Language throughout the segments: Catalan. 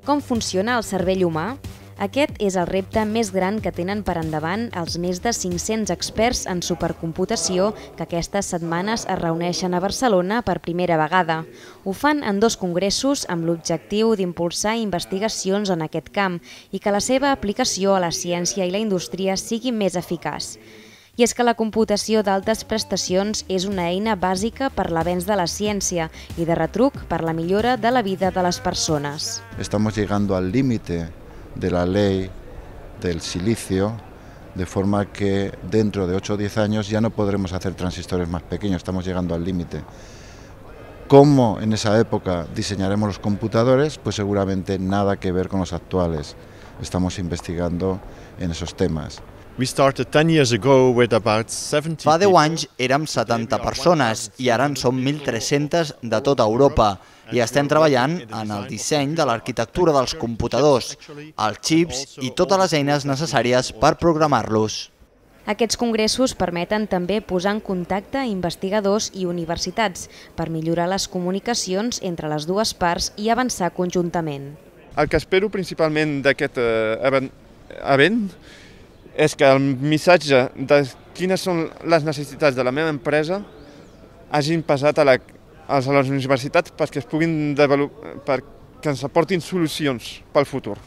Com funciona el cervell humà? Aquest és el repte més gran que tenen per endavant els més de 500 experts en supercomputació que aquestes setmanes es reuneixen a Barcelona per primera vegada. Ho fan en 2 congressos amb l'objectiu d'impulsar investigacions en aquest camp i que la seva aplicació a la ciència i la indústria sigui més eficaç. I és que la computació d'altes prestacions és una eina bàsica per l'avenç de la ciència i de retruc per la millora de la vida de les persones. Estamos llegando al límite de la ley del silicio, de forma que dentro de 8 o 10 años ya no podremos hacer transistores más pequeños, estamos llegando al límite. ¿Cómo en esa época diseñaremos los computadores? Pues seguramente nada que ver con los actuales. Estamos investigando en esos temas. Fa 10 anys érem 70 persones i ara en som 1.300 de tota Europa i estem treballant en el disseny de l'arquitectura dels computadors, els xips i totes les eines necessàries per programar-los. Aquests congressos permeten també posar en contacte investigadors i universitats per millorar les comunicacions entre les dues parts i avançar conjuntament. El que espero principalment d'aquest event és que el missatge de quines són les necessitats de la meva empresa hagin passat a les universitats perquè ens aportin solucions pel futur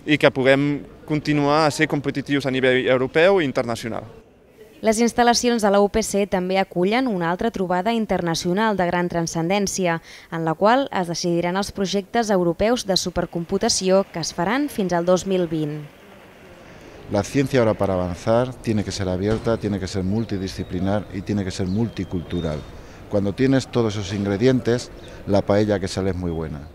i que puguem continuar a ser competitius a nivell europeu i internacional. Les instal·lacions de la UPC també acullen una altra trobada internacional de gran transcendència, en la qual es decidiran els projectes europeus de supercomputació que es faran fins al 2020. La ciencia ahora para avanzar tiene que ser abierta, tiene que ser multidisciplinar y tiene que ser multicultural. Cuando tienes todos esos ingredientes, la paella que sale es muy buena.